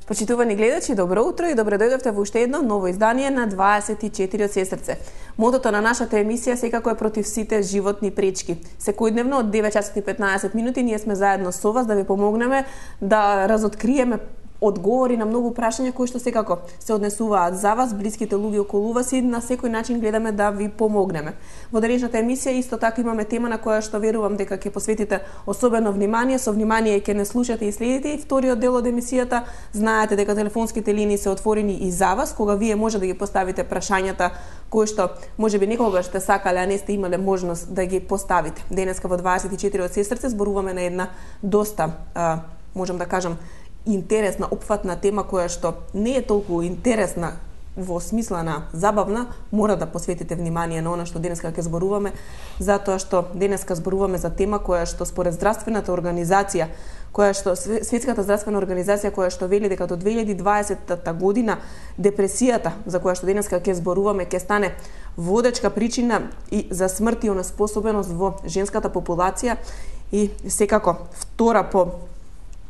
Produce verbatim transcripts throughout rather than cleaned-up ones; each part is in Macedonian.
Почитувани гледачи, добро утро и добре дојдовте во уште едно ново издание на дваесет и четири од Сестрце. Мотото на нашата емисија секако е против сите животни пречки. Секојдневно од девет часот и петнаесет минути ние сме заедно со вас да ви помогнеме да разоткриеме одговори на многу прашања кои што секако се однесуваат за вас, блиските луѓе околу вас и на секој начин гледаме да ви помогнеме. Во денешната емисија исто така имаме тема на која што верувам дека ќе посветите особено внимание, со внимание ќе не слушате и следите и вториот дел од емисијата. Знаете дека телефонските линии се отворени и за вас, кога вие може да ги поставите прашањата кои што можеби некогаш сте сакале, а не сте имале можност да ги поставите. Денеска во дваесет и четири од Сестрце зборуваме на една доста, а, можам да кажам, интересна, опфатна тема која што не е толку интересна во смисла на забавна, мора да посветите внимание на она што денеска ќе зборуваме, затоа што денеска зборуваме за тема која што според здравствената организација, која што Светската здравствена организација која што вели дека до две илјади и дваесета година депресијата за која што денеска ќе зборуваме ќе стане водечка причина и за смрт и онеспособеност во женската популација и секако втора по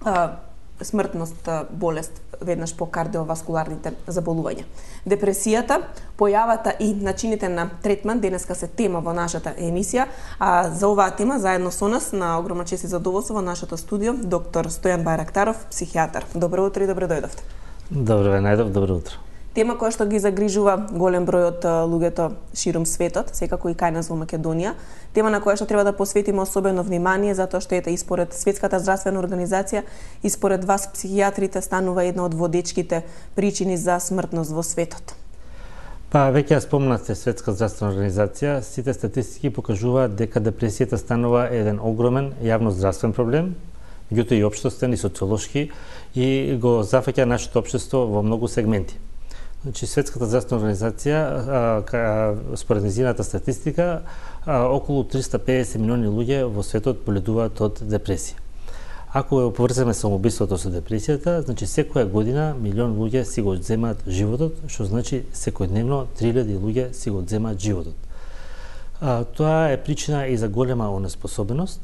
а, смртност болест веднаш по кардиоваскуларните заболувања. Депресијата, појавата и начините на третман денеска се тема во нашата емисија, а за оваа тема заедно со нас на огромна чест и задоволство во нашето студио доктор Стојан Бајрактаров, психијатар. Добро утро и добре дојдовте. Добро ве најдов, добро утро. Тема која што ги загрижува голем број од луѓето ширум светот, секако и кај нас во Македонија. Тема на која што треба да посветиме особено внимание, затоа што ете и според Светската здравствена организација и според вас психијатрите станува една од водечките причини за смртност во светот. Па веќе ја спомнавте Светска здравствена организација, сите статистики покажуваат дека депресијата станува еден огромен јавно здравствен проблем, меѓутоа и општествен и социолошки и го зафаќа нашето општество во многу сегменти. Значи, Светската здравствена организација, а, а, според незината статистика, а, околу триста и педесет милиони луѓе во светот боледуваат од депресија. Ако ја поврземе самоубиството со депресијата, значи секоја година милион луѓе си го земаат животот, што значи секојдневно три илјади луѓе си го земаат животот. А, тоа е причина и за голема онеспособеност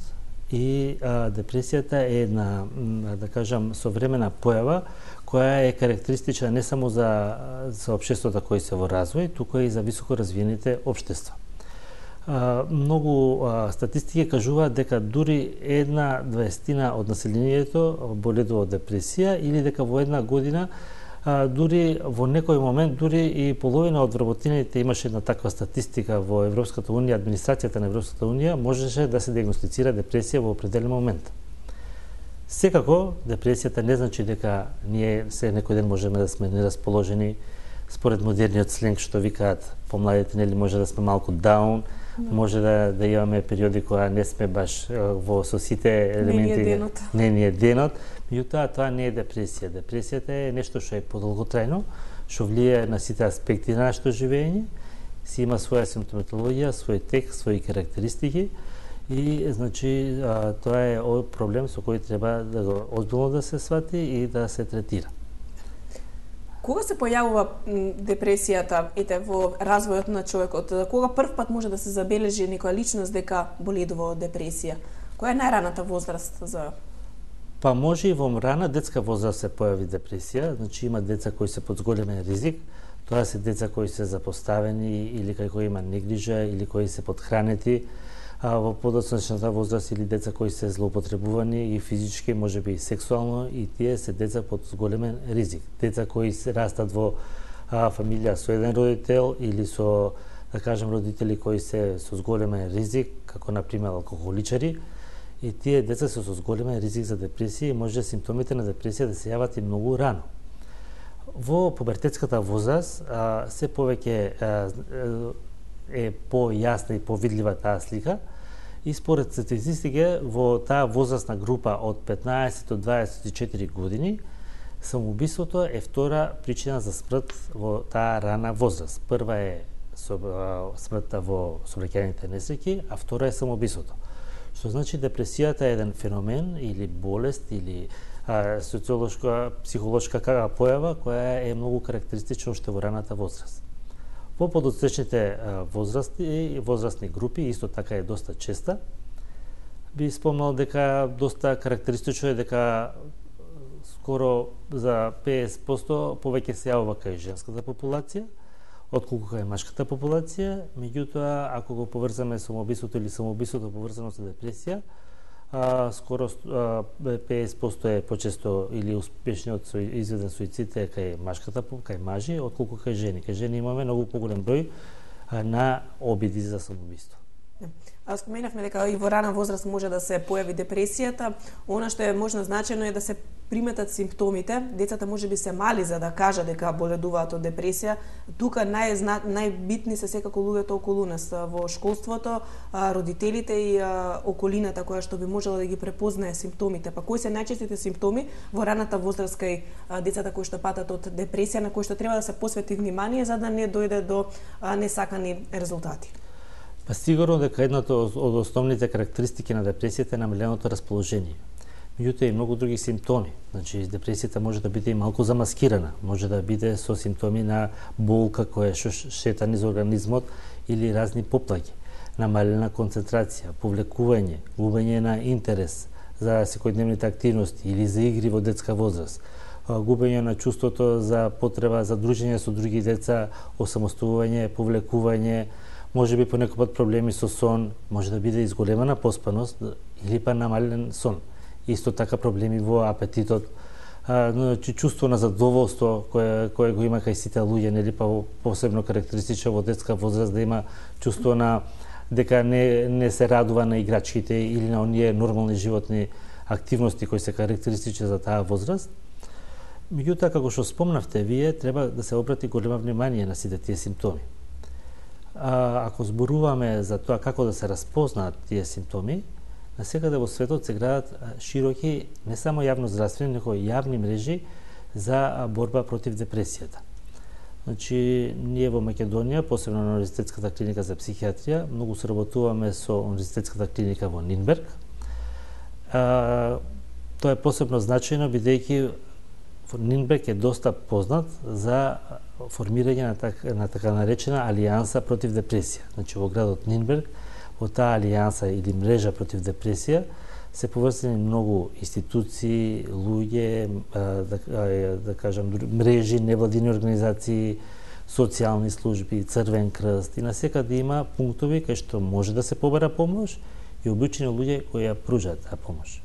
и а, депресијата е една, да кажам, современа појава која е карактеристична не само за, за општеството кои се во развој, туку и за високо развиените општества. А, многу а, статистики кажуваат дека дури една дваесетина од населението боледува од депресија или дека во една година а, дури во некој момент дури и половина од вработените, имаше една таква статистика во Европската унија, администрацијата на Европската унија можеше да се диагностицира депресија во определен момент. Секако, депресијата не значи дека ние се некој ден можеме да сме нерасположени, според модерниот сленг што викаат помладите, нели може да сме малку даун, no. може да, да имаме периоди кога не сме баш во со сите елементи. Не ни е денот. Не ни е денот, меѓутоа тоа не е депресија. Депресијата е нешто што е подолготрајно, што влијае на сите аспекти на нашето живење, си има своја симптоматологија, свој тек, своји карактеристики. И, значи, а, тоа е проблем со кој треба да го озбилно да се свати и да се третира. Кога се појавува депресијата ете во развојот на човекот? Кога прв пат може да се забележи некоја личност дека боледува од депресија? Која е најраната возраст за... Па може и во рана детска возраст се појави депресија, значи има деца кои се под зголемен ризик, тоа се деца кои се запоставени или кои има негрижа или кои се подхранети, а во подоцнешната возраст или деца кои се злоупотребувани и физички, можеби и сексуално, и тие се деца под зголемен ризик. Деца кои се растат во а, фамилија со еден родител или со, да кажем, родители кои се со зголемен ризик, како например алкохоличари, и тие деца се со зголемен ризик за депресија и може симптомите на депресија да се јават и многу рано. Во пубертетската возраст а, се повеќе а, е појасна и повидлива таа слика и според статистика во таа возрастна група од петнаесет до дваесет и четири години самоубиството е втора причина за смрт во таа рана возраст. Прва е смртта во сообраќајните несреќи, а втора е самоубиството. Што значи депресијата е еден феномен или болест или а, социолошка, психолошка појава која е многу карактеристична уште во раната возраст. Во подоцнешните возрасти и возрастни групи исто така е доста честа. Би спомнал дека доста карактеристично е дека скоро за педесет проценти повеќе се јавува кај женската популација, отколку кај машката популација. Меѓутоа, ако го поврзаме самоубиството или самоубиството поврзано со депресија, а, скоро а, педесет проценти е почесто или успешниот со изведен суицид е кај машката, кај мажи, отколку кај жени. Кај жени имаме многу поголем број а, на обиди за самоубиство. А споменавме дека и во рана возраст може да се појави депресијата. Она што е можно значено е да се приметат симптомите. Децата можеби се мали за да кажа дека боледуваат од депресија. Тука најзна... најбитни се секако луѓето околу нас во школството, родителите и околината која што би можела да ги препознае симптомите. Па кои се најчестите симптоми во раната возраст кај децата кои што патат од депресија, на кои што треба да се посвети внимание за да не дојде до несакани резултати? Па сигурно дека едната од основните карактеристики на депресијата е намаленото расположение. Меѓутоа и многу други симптоми. Значи, депресијата може да биде и малку замаскирана, може да биде со симптоми на болка која што шета низ организмот или разни поплаќи, намалена концентрација, повлекување, губење на интерес за секојдневните активности или за игри во детска возраст, губење на чувството за потреба за дружење со други деца, осамостојување, повлекување, може би понекогаш проблеми со сон, може да биде изголемена поспаност или па намален сон. Исто така проблеми во апетитот, а, значи чувство на задоволство кое кое го има кај сите луѓе, нели, па посебно карактеристично во детска возраст да има чувство на дека не не се радува на играчките или на оние нормални животни активности кои се карактеристични за таа возраст. Меѓутоа, како што спомнавте вие, треба да се обрати големо внимание на сите тие симптоми. А, ако зборуваме за тоа како да се распознаат тие симптоми, насекаде во светот се градат широки не само јавноздравствени, него и јавни мрежи за борба против депресијата. Значи, ние во Македонија, посебно на Универзитетската клиника за психијатрија, многу соработуваме со Универзитетската клиника во Нинберг. А, тоа е посебно значајно бидејќи Нинберг е доста познат за формирање на, так, на така наречена алијанса против депресија. Значи, во градот Нинберг, во таа алијанса или мрежа против депресија, се поврзани многу институции, луѓе, да, да кажам, мрежи, невладини организации, социјални служби, Црвен крст и насекаде има пунктови кај што може да се побара помош и обучени луѓе кои ја пружат таа помош.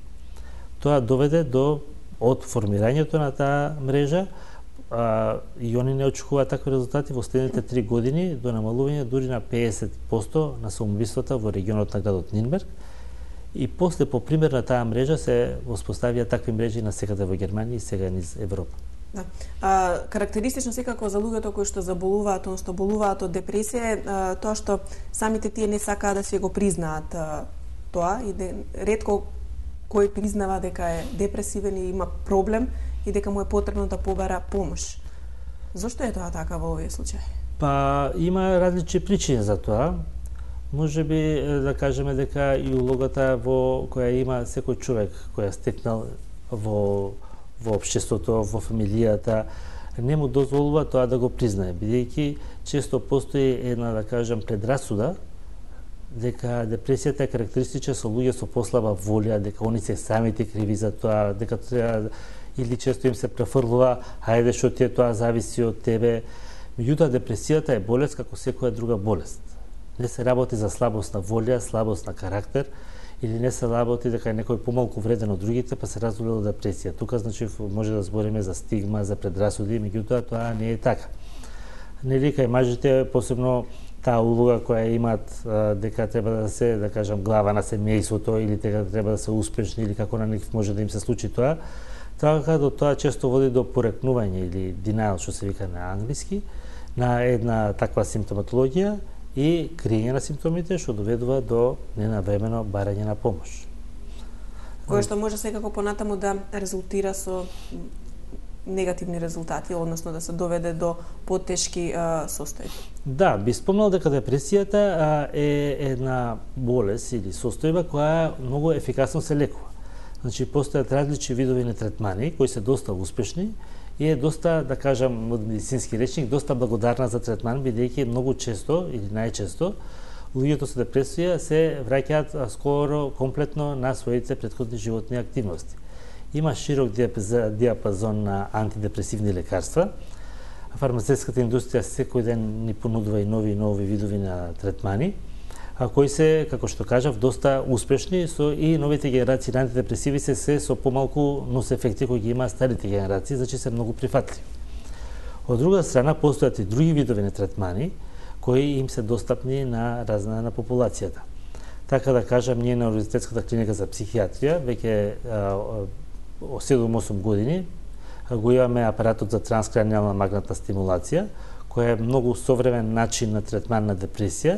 Тоа доведе до од формирањето на таа мрежа а, и они не очекуваат такви резултати во следните три години до намалување дури на педесет проценти на самоубиствата во регионот на градот Нинберг. И после, по пример на таа мрежа, се воспоставија такви мрежи на секаде во Германија и сега низ Европа. Да. А, карактеристично секако за луѓето кои што заболуваат, односно болуваат од депресија е тоа што самите тие не сакаат да се го признаат а, тоа и де, ретко кој признава дека е депресивен и има проблем и дека му е потребно да побара помош. Зошто е тоа така во овие случаи? Па има различни причини за тоа. Може би да кажеме дека и улогата во која има секој човек која стекнал во во општеството, во фамилијата, не му дозволува тоа да го признае, бидејќи често постои една, да кажам, предрасуда дека депресијата е карактеристична со луѓе со послаба волја, дека они се самите криви за тоа, дека треба или често им се префрлува, хајде што ти е тоа зависи од тебе. Меѓутоа депресијата е болест како секоја друга болест. Не се работи за слабост на волја, слабост на карактер, или не се работи дека е некој помалку вреден од другите, па се развива депресија. Тука, значи, може да збориме за стигма, за предрасуди, меѓутоа тоа не е така. Нели, кај мажите, посебно таа улога која имаат дека треба да се, да кажам, глава на семејството или дека треба да се успешни или како на нив може да им се случи тоа, така до тоа често води до порекнување или denial, што се вика на англиски, на една таква симптоматологија и криење на симптомите, што доведува до ненавремено барање на помош. Кое што може секако понатаму да резултира со негативни резултати, односно да се доведе до потешки а, состојби. Да, би спомнал дека депресијата а, е една болест или состојба која многу ефикасно се лекува. Значи, постојат различни видови на третмани кои се доста успешни и е доста, да кажам, од медицински речник, доста благодарна за третман, бидејќи многу често или најчесто луѓето со депресија се враќаат скоро комплетно на своите претходни животни активности. има широк диапазон на антидепресивни лекарства. Фармацевтската индустрија секој ден ни понудува и нови и нови видови на третмани, а кои се, како што кажав, доста успешни, со и новите генерации на антидепресиви се, се со помалку нос ефекти кои ги има старите генерации, значи се многу прифатливи. Од друга страна, постојат и други видови на третмани кои им се достапни на разна на популацијата. Така да кажам, ние на Универзитетската клиника за психијатрија веќе седум-осум години го имаме апаратот за транскраниална магнетна стимулација, која е многу современ начин на третман на депресија,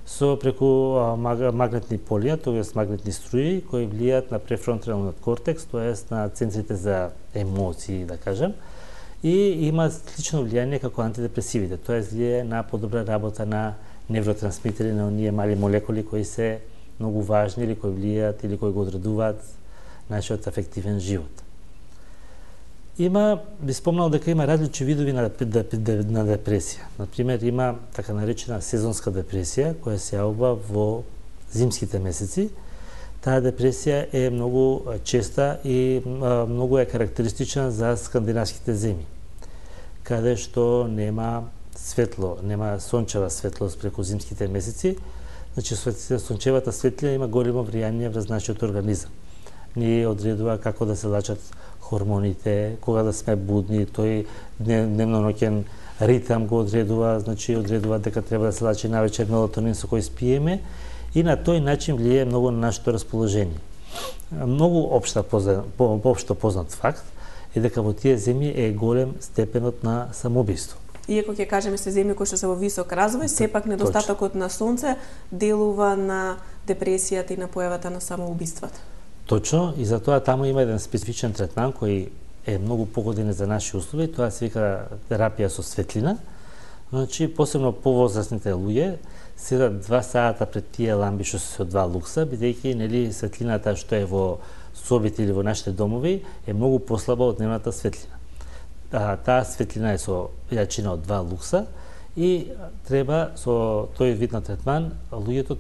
со преку магнетни полија, тоест магнетни струи, кои влијаат на префронталниот кортекс, тоест на центрите за емоции, да кажем, и има слично влијание како антидепресивите, тоест влијае на подобра работа на невротрансмитери, на оние мали молекули кои се многу важни или кои влијаат или кои го одредуваат нашиот афективен живот. Има, би спомнал дека има различни видови на, на депресија. Например, има така наречена сезонска депресија, која се јавува во зимските месеци. Таа депресија е многу честа и многу е карактеристична за скандинавските земји, каде што нема светло, нема сончева светлост преку зимските месеци. Значи, сончевата светлина има големо влијание врз нашиот организам. Ни одредува како да се лачат хормоните, кога да сме будни, тој дневно-ноќен ритам го одредува, значи одредува дека треба да се лачи навечер мелатонин со кој спиеме и на тој начин влијае многу на нашето расположение. Многу општа по, општо познат факт е дека во тие земји е голем степенот на самоубиство. Иако ќе кажеме се земји кои што се во висок развој, сепак недостатокот на сонце делува на депресијата и на појавата на самоубиствата. Точно, и затоа таму има еден специфичен третман кој е многу погоден за наши услови, тоа се вика терапија со светлина. Значи, посебно повозрастните луѓе седат два сата пред тие ламби што се од два лукса, бидејќи нели светлината што е во собите или во нашите домови е многу послаба од дневната светлина. А, таа светлина е со јачина од два лукса и треба со тој вид на третман луѓето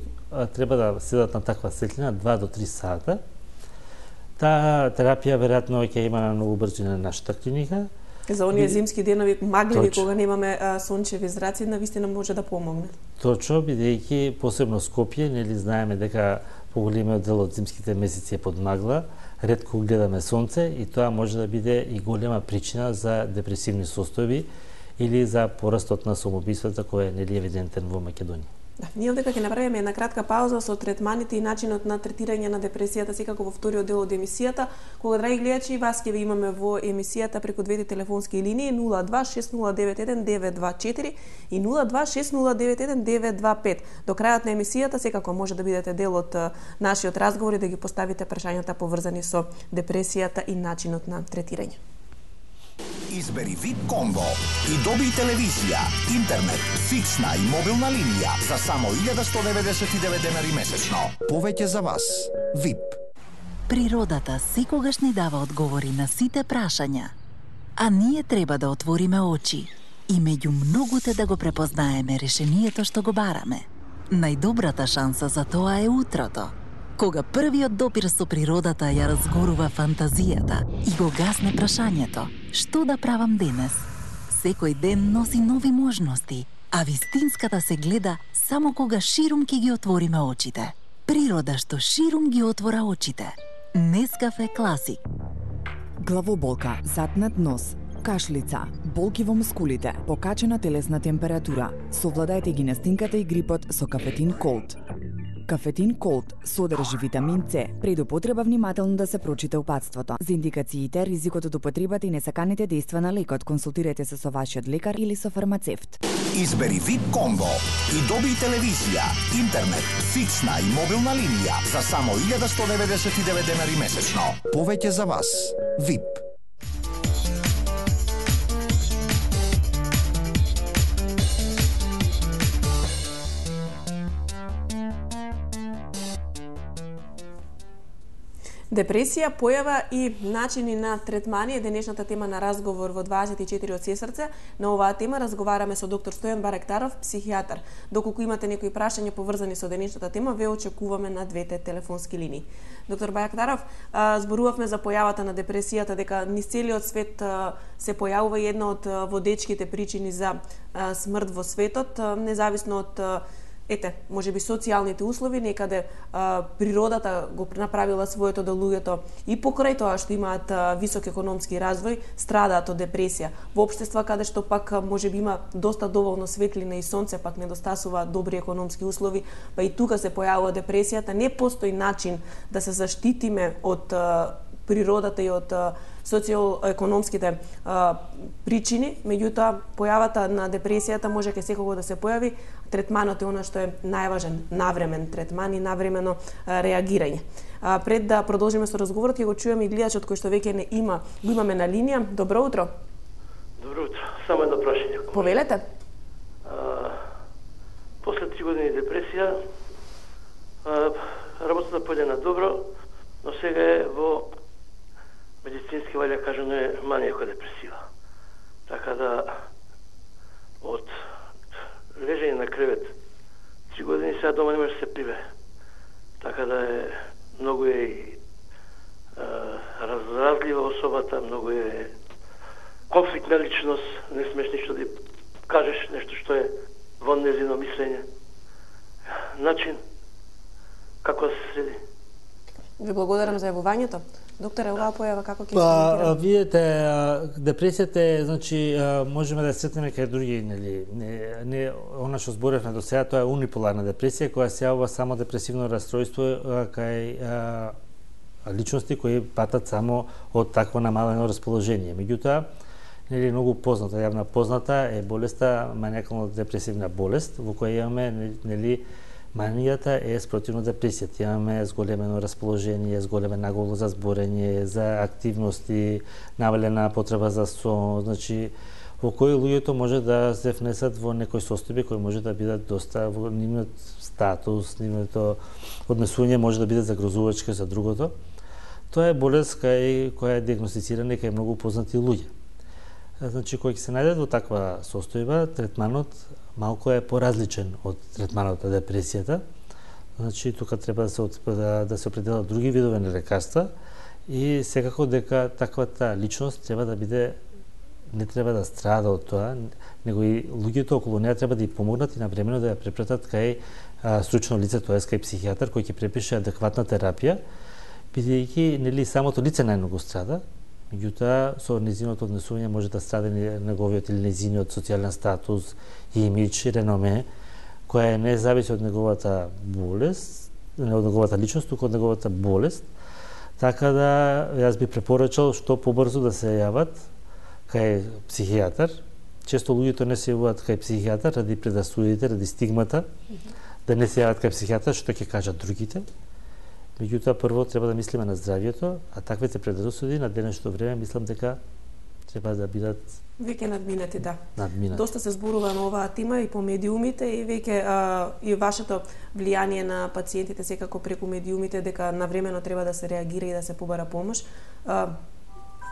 треба да седат на таква светлина два до три сата. Таа терапија веројатно ќе има на многу брзина на нашата клиника. За оние зимски денови магливи кога немаме а, сончеви зраци, навистина може да помогне. Точно, бидејќи посебно Скопје, нели знаеме дека поголемиот дел од зимските месеци е под магла, ретко гледаме сонце и тоа може да биде и голема причина за депресивни состојби или за порастот на самоубиствата кој е нели евидентен во Македонија. Да, ние овдека ќе направиме една кратка пауза со третманите и начинот на третирање на депресијата секако во вториот дел од емисијата, кога, драги гледачи, вас ќе ви имаме во емисијата преку двете телефонски линии нула два шест нула девет еден девет два четири и нула два шест нула девет еден девет два пет. До крајот на емисијата секако може да бидете дел од нашиот разговор и да ги поставите прашањата поврзани со депресијата и начинот на третирање. Избери вип комбо и доби телевизија, интернет, фиксна и мобилна линија за само илјада сто деветдесет и девет денари месечно. Повеќе за вас. вип. Природата секогаш ни дава одговори на сите прашања, а ние треба да отвориме очи и меѓу многуте да го препознаеме решението што го бараме. Најдобрата шанса за тоа е утрото, кога првиот допир со природата ја разгорува фантазијата и го гасне прашањето што да правам денес. Секој ден носи нови можности, а вистинската се гледа само кога ширум ќе ги отвориме очите. Природа што ширум ги отвора очите. Нескафе Класик. Главоболка, затнат нос, кашлица, болки во мускулите, покачена телесна температура. Совладајте ги настинката и грипот со Кафетин Колд. Кафетин Колд содржи витамин С. Пред употреба внимателно да се прочита упатството. За индикациите, ризикот од употребата и несаканите дејства на лекот, консултирайте се со вашиот лекар или со фармацевт. Избери вип комбо и доби телевизија, интернет, фиксна и мобилна линија за само илјада сто деветдесет и девет денари месечно. Повеќе за вас. вип. Депресија, појава и начини на третмани е денешната тема на разговор во дваесет и четири од Сесрце. На оваа тема разговараме со доктор Стојан Баректаров, психијатар. Доколку имате некои прашања поврзани со денешната тема, ве очекуваме на двете телефонски линии. Доктор Баректаров, зборувавме за појавата на депресијата, дека низ целиот свет се појавува една од водечките причини за смрт во светот, независно од Ете, може би социјалните услови, некаде а, природата го направила своето да луѓето и покрај тоа што имаат а, висок економски развој, страдаат од депресија. Во општества каде што пак може би има доста доволно светлина и сонце, пак недостасува добри економски услови, па и тука се појавува депресијата. Не постои начин да се заштитиме од а, природата и од социјално-економските причини, меѓутоа појавата на депресијата може ке секого да се појави. Третманот е она што е најважен, навремен третман и навремено а, реагирање. А, пред да продолжиме со разговорот, ќе го чуеме и гледачот кој што веќе не има, го имаме на линија. Добро утро. Добро утро. Само едно прашање. Повелете. А, после три години депресија, а, работата појде на добро, но сега е во медицински вајде кажано е манијако-депресива. Така да од лежење на кревет три години сега дома не може да се прибе. Така да е многу е и разразлива особата, многу е конфликтна личност, не смеш ништо да кажеш нешто што е во незино мислење. Начин како да се следи. Ви благодарам за јавувањето. Докторе, оваа појава како ќе се Па, коментира? видите, депресијата е, значи, можеме да сретнеме кај други, нели, не, не она што зборевме до сега, тоа е униполарна депресија, која се јавува само депресивно расстройство кај а, личности кои патат само од такво намалено расположение. Меѓутоа, нели, многу позната, јавна позната е болеста, манијакално-депресивна болест, во која имаме, нели, манијата е спротивно депресијата. Имаме зголемено расположение, зголемен наголо за зборење, за активности, навалена потреба за сон, значи во кои луѓето може да се внесат во некои состојби кои може да бидат доста во нивниот статус, нивното однесување може да биде загрозувачки за другото. Тоа е болест кај која е диагностицирана кај многу познати луѓе. Значи, кои ќе се најдат во таква состојба, третманот малку е поразличен од третманот на депресијата. Значи, тука треба да се, да, да се определат други видови на лекарства и секако дека таквата личност треба да биде, не треба да страда од тоа, него и луѓето околу неа треба да ја помогнат и навремено да ја препратат кај а, стручно лице, тоест кај психијатар кој ќе препише адекватна терапија, бидејќи нели самото лице најмногу страда. Меѓутоа, со незиното однесување може да страда неговиот или незиниот социјален статус, имидж и реноме, која не зависи од неговата болест, не од неговата личност, туку од неговата болест. Така да, јас би препорачал што побрзо да се јават кај психијатар. Често луѓето не се јавуваат кај психијатар ради предасудите, ради стигмата, да не се јават кај психијатар, што ќе кажат другите. Меѓутоа, прво треба да мислиме на здравјето, а таквите предрасуди на денешното време мислам дека треба да бидат веќе надминати, да. Надминати. Доста се зборува на оваа тема и по медиумите и веќе а, и вашето влијание на пациентите секако преку медиумите дека навремено треба да се реагира и да се побара помош. А,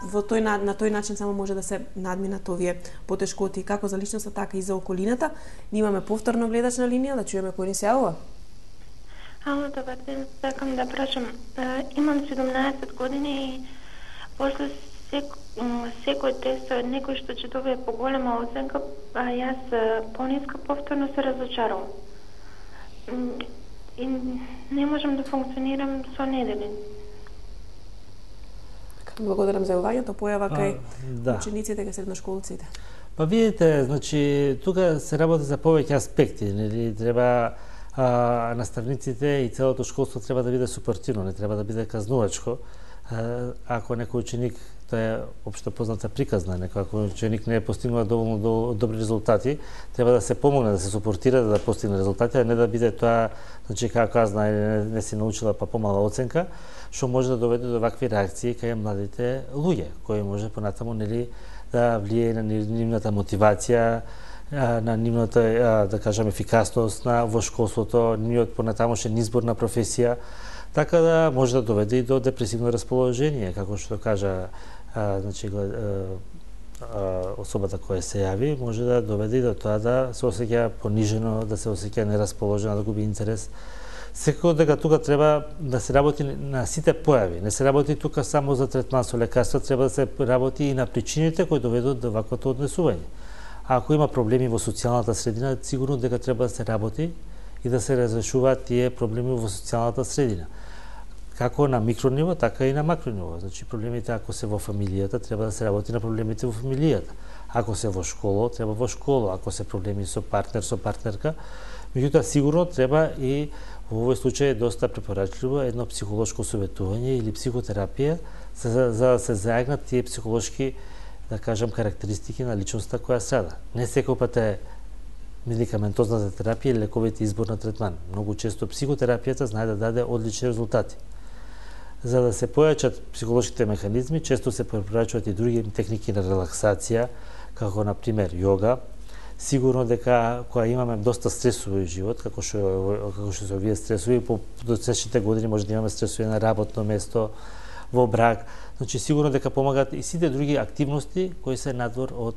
во тој на, на тој начин само може да се надминат овие потешкоти како за личноста така и за околината. Ние имаме повторно гледач на линија, да чуеме кој ни се јавува. Ало, добар ден, сакам да прашам. Имам седумнаесет години и после сек, секој тест од некој што ќе добие поголема оценка, а јас пониска, повторно се разочарувам. И не можам да функционирам со недели. Благодарам за јавувањето, појава кај да. учениците, кај средношколците. Па видите, значи тука се работи за повеќе аспекти, нели треба а, наставниците и целото школство треба да биде супортивно, не треба да биде казнувачко. А, ако некој ученик, тоа е општо позната приказна, некој ако ученик не е постигнува доволно до, добри резултати, треба да се помогне, да се супортира да постигне резултати, а не да биде тоа, значи како казна, не, не си научила па помала оценка, што може да доведе до вакви реакции кај младите луѓе, кои може понатаму нели да влие на нивната мотивација, на нивната, да кажам, ефикасност на во школството, нивниот понатамошен избор на професија. Така да може да доведе и до депресивно расположение, како што кажа а, значи, а, а, особата која се јави, може да доведе и до тоа да се осеќа понижено, да се осеќа нерасположено, да губи интерес. Секако дека тука треба да се работи на сите појави. Не се работи тука само за третман со лекарства, треба да се работи и на причините кои доведуваат до ваквото однесување. А ако има проблеми во социјалната средина, сигурно дека треба да се работи и да се разрешуваат тие проблеми во социјалната средина. Како на микрониво, така и на макрониво. Значи проблемите ако се во фамилијата, треба да се работи на проблемите во фамилијата. Ако се во школа, треба во школа. Ако се проблеми со партнер, со партнерка, меѓутоа сигурно треба и во овој случај е доста препорачливо едно психолошко советување или психотерапија за, за да се зајагнат тие психолошки, да кажам, карактеристики на личноста која страда. Не секој пат е медикаментозната терапија или лековите избор на третман. Многу често психотерапијата знае да даде одлични резултати. За да се појачат психолошките механизми, често се препорачуваат и други техники на релаксација, како на пример йога. Сигурно дека кога имаме доста стресови живот, како што како што се овие стресови, по досечните години може да имаме стресови на работно место, во брак, значи сигурно дека помагаат и сите други активности кои се надвор од,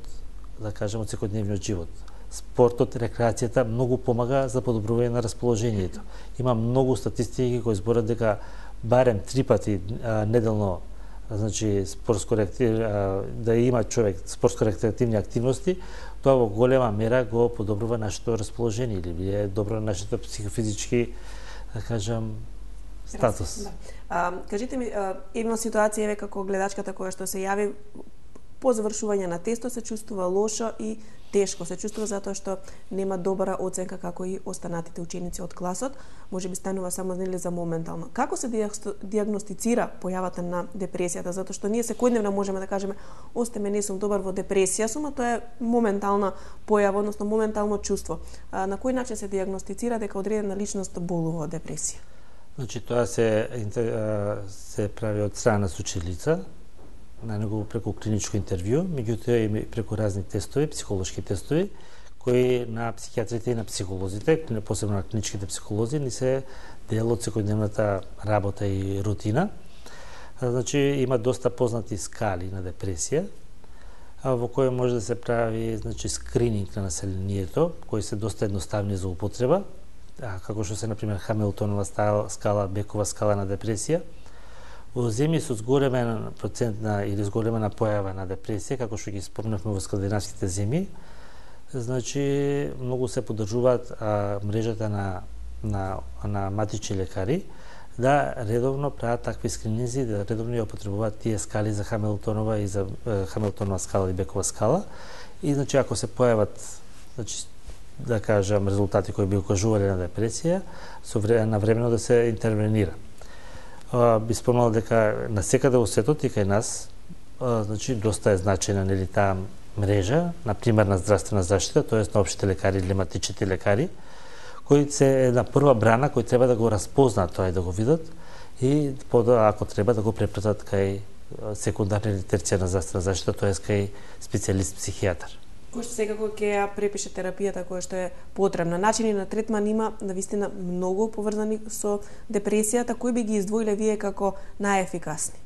да кажем, од секојдневниот живот. Спортот, рекреацијата многу помага за подобрување на расположението. Има многу статистики кои зборат дека барем три пати а, неделно, значи спортско да има човек спортско рекреативни активности, тоа во голема мера го подобрува нашето расположение или е добро нашето психофизички, да кажам, статус. Да. А, кажите ми, има ситуација еве како гледачката која што се јави по завршување на тестот се чувствува лошо и тешко, се чувствува затоа што нема добра оценка како и останатите ученици од класот, можеби станува само нели за моментално. Како се диагностицира појавата на депресијата, затоа што ние секојдневно можеме да кажеме остеме не сум добар во депресија, сума тоа е моментална појава, односно моментално чувство. А, на кој начин се диагностицира дека одредена личност болува од депресија? Значи тоа се се прави од страна на сучилица, на него преку клиничко интервју, меѓутоа и преку разни тестови, психолошки тестови, кои на психијатрите и на психолозите, посебно на клиничките психолози, ни се дел од секојдневната работа и рутина. Значи, има доста познати скали на депресија, во кој може да се прави, значи, скрининг на населението, кои се доста едноставни за употреба, како што се, например, Хамилтонова скала, Бекова скала на депресија. Во земји со зголемен процент на или зголемена појава на депресија, како што ги спомнавме во скандинавските земји, значи многу се поддржуваат а, мрежата на на на матични лекари да редовно прават такви скрининзи, да редовно ја употребуваат тие скали за Хамилтонова и за е, Хамилтонова скала и Бекова скала. И значи ако се појават, значи да кажам, резултати кои би укажувале на депресија, со време на времено да се интервенира. Uh, би спомнал дека на секаде во светот и кај нас uh, значи доста е значајна нели таа мрежа на примарна здравствена заштита, тоест на општите лекари или матичните лекари, кои се една прва брана кои треба да го распознаат тоа и да го видат и подоа ако треба да го препратат кај секундарна или терцијарна здравствена заштита, тоест кај специјалист психијатар. Кој што секако ќе ја препише терапијата која што е потребна. Начини на третман има навистина многу поврзани со депресијата, кои би ги издвоиле вие како најефикасни?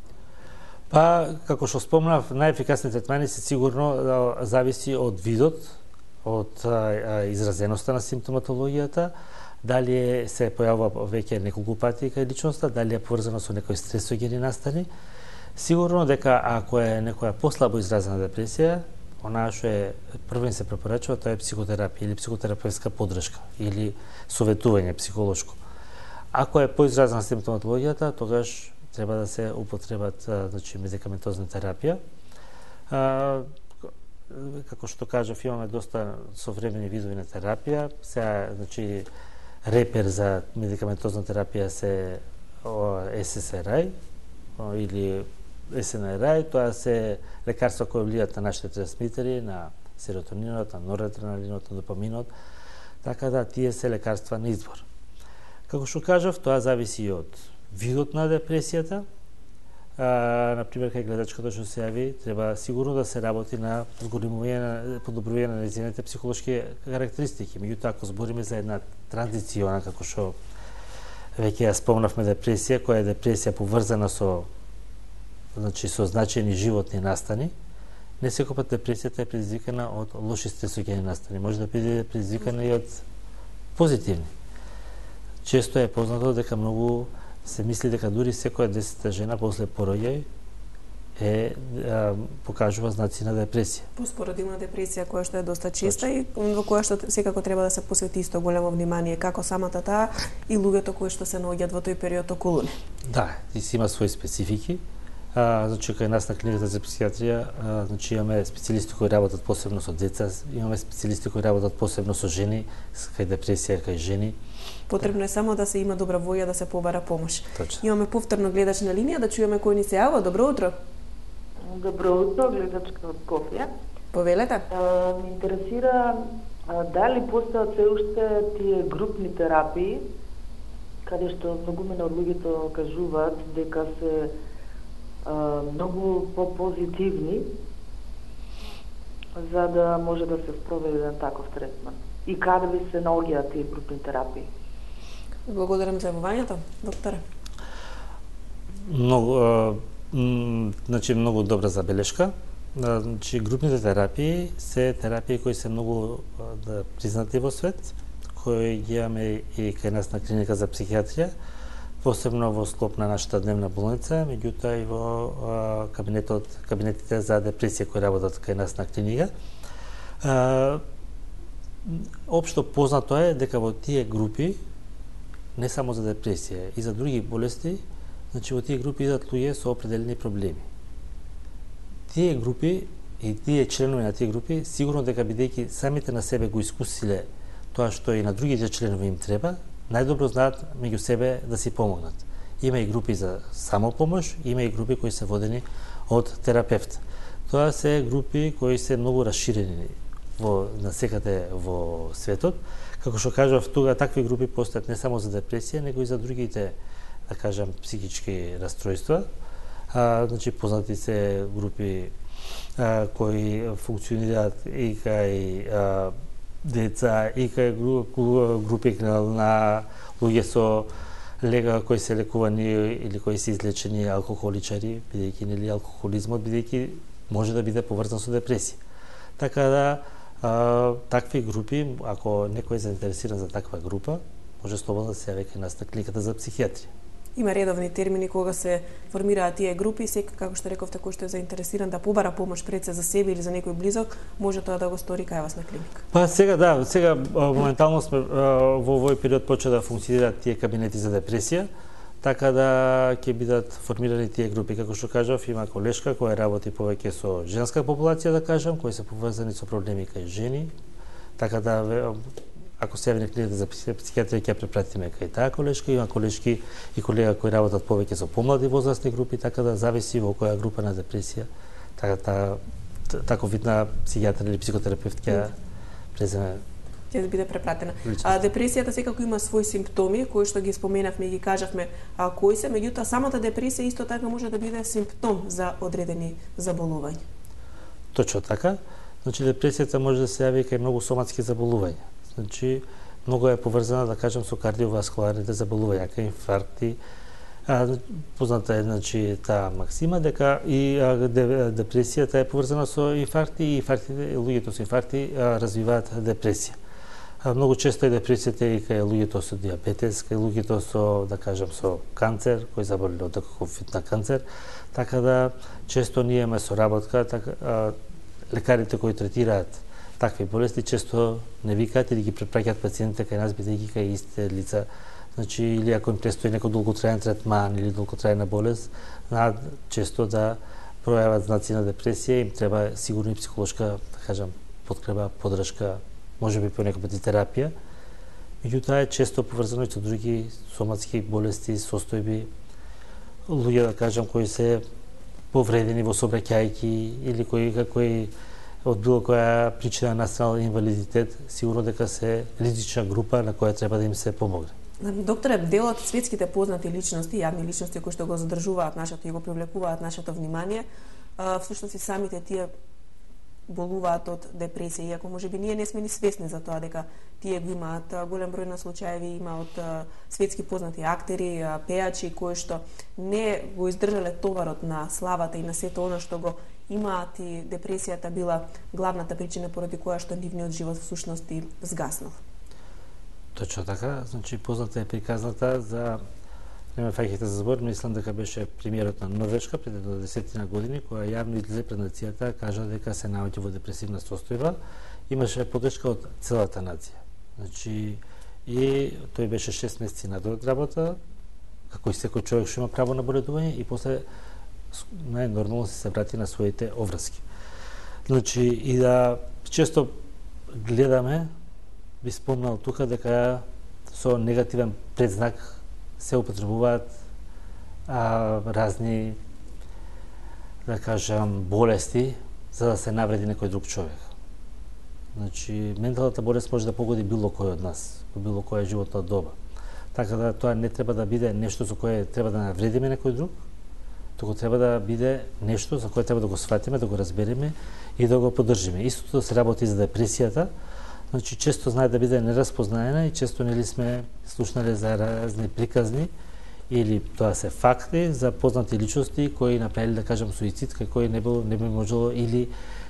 Па, како што спомнав, најефикасни третмани се сигурно зависи од видот, од а, изразеноста на симптоматологијата, дали се појавува веќе неколку пати кај личноста, дали е поврзано со некои стресогени настани. Сигурно дека ако е некоја послабо изразена депресија, онаа што е првен се препорачува, тоа е психотерапија или психотерапевтска поддршка или советување психолошко. Ако е поизразна симптоматологијата, тогаш треба да се употребат, значи, медикаментозна терапија. А, како што кажав, имаме доста современи видови на терапија. Сега, значи, репер за медикаментозна терапија се Ес Ес Ар Ај или Ес Ен Ар Ај, тоа се лекарства кои влијат на нашите трансмитери, на серотонинот, на норадреналинот, на допаминот, така да тие се лекарства на избор. Како што кажав, тоа зависи од видот на депресијата. А, например, кај гледачката што се јави, треба сигурно да се работи на зголемување, подобрување на незините психолошки карактеристики. Меѓутоа, ако збориме за една транзициона, како што Веќе ја спомнавме депресија, која е депресија поврзана со значи со значајни животни настани. Не секој пат депресијата е предизвикана од лоши стресогени настани, може да биде предизвикана и од позитивни. Често е познато дека многу се мисли дека дури секоја десета жена после пороѓај е а, покажува знаци на депресија. Поспородилна депресија која што е доста честа и во која што секако треба да се посвети исто големо внимание како самата таа и луѓето кои што се наоѓаат во тој период околу не. Да, и си има своји специфики. А, значи кај нас на клиниката за психијатрија, а, значи имаме специјалисти кои работат посебно со деца, имаме специјалисти кои работат посебно со жени, кај депресија кај жени. Потребно е само да се има добра воја да се побара помош. Точно. Имаме повторно гледач на линија, да чуеме кој ни се јава. Добро утро. Добро утро, гледачка од Скопје. Повелете. А, ме интересира а, дали постојат се уште тие групни терапии, каде што многумина од луѓето кажуваат дека се а, многу по-позитивни за да може да се спроведе еден таков третман. И каде ви се наоѓаат тие групни терапии? Благодарам за јавувањето, докторе. Многу, а, м, значи многу добра забелешка. А, значи групните терапии се терапии кои се многу а, да, признати во свет, кои ги имаме и кај нас на клиника за психијатрија, посебно во склоп на нашата дневна болница, меѓутоа и во а, кабинетот, кабинетите за депресија кои работат кај нас на клиника. А, Општо познато е дека во тие групи, не само за депресија, и за други болести, значи во тие групи идат луѓе со определени проблеми. Тие групи и тие членови на тие групи, сигурно дека бидејќи самите на себе го искусиле тоа што и на другите членови им треба, најдобро знаат меѓу себе да си помогнат. Има и групи за самопомош, има и групи кои се водени од терапевт. Тоа се групи кои се многу расширени во насекаде во светот. Како што кажав, тука такви групи постојат не само за депресија, него и за другите, да кажам, психички расстройства. А, значи познати се групи а, кои функционираат и кај а, деца, и кај групи на луѓе со лега кои се лекувани или кои се излечени алкохоличари, бидејќи нели алкохолизмот бидејќи може да биде поврзан со депресија. Така да а, такви групи, ако некој е заинтересиран за таква група, може слободно да се јави кај нас на клиниката за психијатрија. Има редовни термини кога се формираат тие групи, секој, како што рековте, кој што е заинтересиран да побара помош пред се за себе или за некој близок, може тоа да го стори кај вас на клиника. Па сега да, сега моментално сме во овој период почна да функционираат тие кабинети за депресија, така да ќе бидат формирани тие групи. Како што кажав, има колешка која работи повеќе со женска популација, да кажам, кои се поврзани со проблеми кај жени, така да ако се јави на клиниката за психијатрија ќе препратиме кај таа колешка, има колешки и колега кои работат повеќе со помлади возрастни групи, така да зависи во која група на депресија, така та, таков вид на психијатар или психотерапевт ќе преземе ќе биде препратена. А депресијата секако има своји симптоми кои што ги споменавме и ги кажавме, а кои се, меѓутоа самата депресија исто така може да биде симптом за одредени заболувања. Точно така. Значи депресијата може да се јави кај многу соматски заболувања. Значи, многу е поврзана, да кажем, со кардиоваскуларните заболувања, кај инфаркти. А, позната е, значи, таа максима, дека и а, депресијата е поврзана со инфаркти и инфарктите, луѓето со инфаркти а, развиваат депресија. А, многу често е депресијата и кај луѓето со диабетес, кај луѓето со, да кажем, со канцер, кои заболеле од таков вид на канцер, така да често ние имаме соработка, така, а, лекарите кои третираат такви болести често не викаат или ги препраќаат пациентите кај нас бидејќи кај истите лица. Значи, или ако им престои некој долготраен третман или долготрајна болест, знаат често да пројават знаци на депресија, им треба сигурно и психолошка, да кажам, подкрепа, поддршка, можеби по некој пат и терапија. Меѓутоа е често поврзано и со други соматски болести, состојби, луѓе, да кажам, кои се повредени во сообраќајки или кои кои од било која причина настанал инвалидитет, сигурно дека се ризична група на која треба да им се помогне. Докторе, дел од светските познати личности, јавни личности кои што го задржуваат нашето и го привлекуваат нашето внимание, всушност и самите тие болуваат од депресија, иако можеби ние не сме ни свесни за тоа дека тие го имаат. Голем број на случаеви има од светски познати актери, пејачи кои што не го издржале товарот на славата и на сето она што го имаат, и депресијата била главната причина поради која што нивниот живот всушност и згаснал. Точно така, значи позната е приказната за не ме фаќате за збор, мислам дека беше премиерот на Норвешка пред десетина години, која јавно излезе пред нацијата, кажа дека се наоѓа во депресивна состојба, имаше поддршка од целата нација. Значи, и тој беше шест месеци на работа, како и секој човек што има право на боледување, и после најнормално се врати на своите обврски. Значи, и да често гледаме, би спомнал тука дека со негативен предзнак се употребуваат а, разни, да кажам, болести за да се навреди некој друг човек. Значи, менталната болест може да погоди било кој од нас, во било која животна доба. Така да тоа не треба да биде нешто со кое треба да навредиме некој друг, туку треба да биде нешто за кое треба да го сватиме, да го разбереме и да го поддржиме. Истото се работи за депресијата. Значи, често знае да биде нераспознаена и често нели сме слушнале за разни приказни или тоа се факти за познати личности кои направиле, да кажам, суицид, кај кој не било, не би можело, или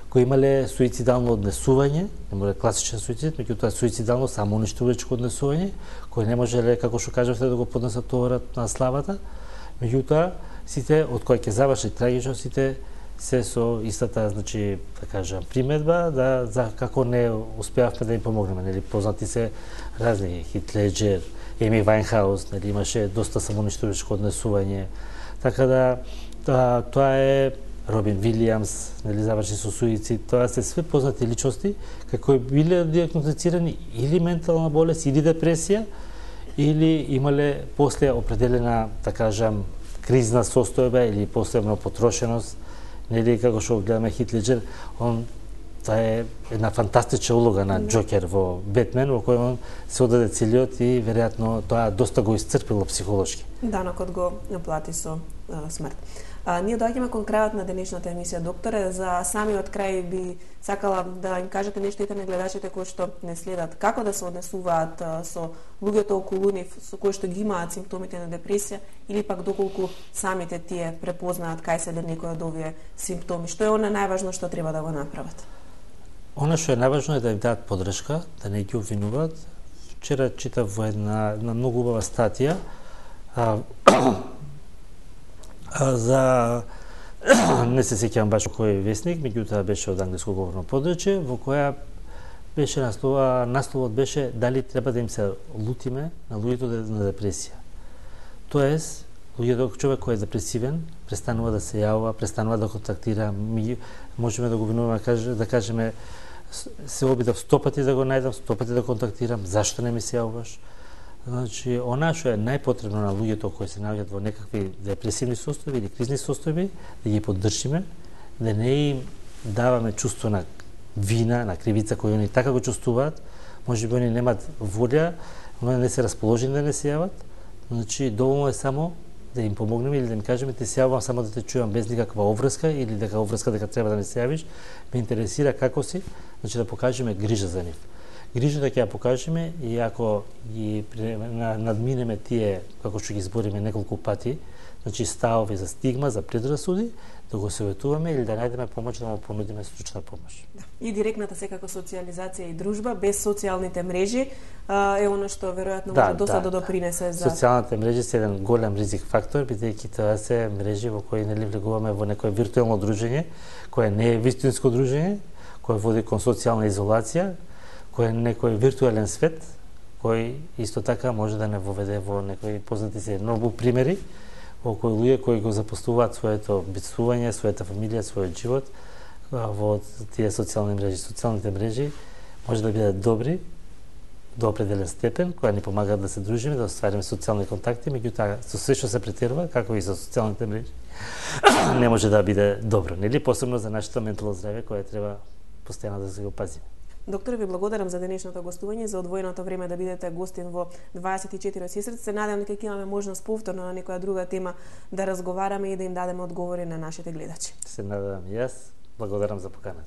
кои имале суицидално однесување, не може класичен суицид, меѓутоа суицидално самоуништувачко однесување, кој не можеле, како што кажавте, да го поднесат товарот на славата. Меѓутоа, сите од кои ќе заврши трагично, сите се со истата, значи, да кажам, приметба да за како не успеавме да им помогнеме, нели познати се разни Хит Леџер, Еми Вајнхаус, нели имаше доста самоуништувачко однесување. Така да тоа, тоа е Робин Вилијамс, нели заврши со суицид. Тоа се све познати личности како биле диагностицирани или ментална болест, или депресија, или имале после определена, да кажам, кризна состојба или посебно потрошеност. Нели како што гледаме Хит Леџер, он тоа е една фантастична улога на Џокер во Бетмен, во кој он се одаде целиот и веројатно тоа доста го исцрпило психолошки. Данокот го плати со а, смрт. А, ние доаѓаме кон крајот на денешната емисија, докторе. За самиот крај би сакала да им кажете нешто и на гледачите кои што не следат, како да се однесуваат а, со луѓето околу нив, со кои што ги имаат симптомите на депресија, или пак доколку самите тие препознаат кај се некој од овие симптоми. Што е она најважно што треба да го направат? Она што е најважно е да им дадат поддршка, да не ги обвинуваат. Вчера читав во една, една многу убава статија а, а, за не се сеќавам баш кој весник, меѓутоа беше од англиско говорно подрачје, во која беше наслова, насловот беше дали треба да им се лутиме на луѓето на депресија. Тоест, луѓето, човек кој е депресивен, престанува да се јавува, престанува да контактира, ми можеме да го винуваме, да кажеме, се обидав сто пати да го најдам, сто пати да контактирам, зашто не ми се јавуваш? Значи, она што е најпотребно на луѓето кои се наоѓаат во некакви депресивни состојби или кризни состојби, да ги поддржиме, да не им даваме чувство на вина, на кривица кои они така го чувствуваат, можеби они немаат волја, они не се расположени да не се јават. Значи, доволно е само да им помогнеме или да им кажеме ти се јавувам само да те чувам без никаква обврска или дека обврска дека треба да ми се јавиш, ме интересира како си, значи да покажеме грижа за нив. Грижата ќе ја покажеме и ако ги надминеме тие, како што ги збориме неколку пати, значи ставови за стигма, за предрасуди, да го советуваме или да најдеме помош, да му понудиме стручна помош. Да. И директната секако социјализација и дружба без социјалните мрежи а, е она што веројатно да, може доста да, да допринесе за социјалните мрежи се еден голем ризик фактор, бидејќи тоа се мрежи во кои нели влегуваме во некое виртуелно дружење, кое не е вистинско дружење, кое води кон социјална изолација, кој е некој виртуелен свет, кој исто така може да не воведе во некои познати се многу примери, во кои луѓе кои го запоставуваат своето битствување, својата фамилија, својот живот во тие социјални мрежи. Социјалните мрежи може да бидат добри до определен степен, која ни помагаат да се дружиме, да оствариме социјални контакти, меѓутоа со се што се претерува, како и со социјалните мрежи, не може да биде добро, нели, посебно за нашето ментално здравје кое треба постојано да се го пазиме. Доктор, ви благодарам за денешното гостување, за одвоеното време да бидете гостин во дваесет и четири од Сестрици. Се надевам дека ќе имаме можност повторно на некоја друга тема да разговараме и да им дадеме одговори на нашите гледачи. Се надевам и јас. Благодарам за поканата.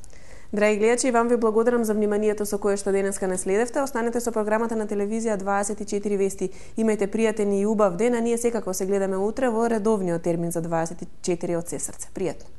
Драги гледачи, вам ви благодарам за вниманието со кое што денеска не следевте. Останете со програмата на телевизија дваесет и четири вести. Имајте пријатен и убав ден, а ние секако се гледаме утре во редовниот термин за дваесет и четири од се срце. Пријатно.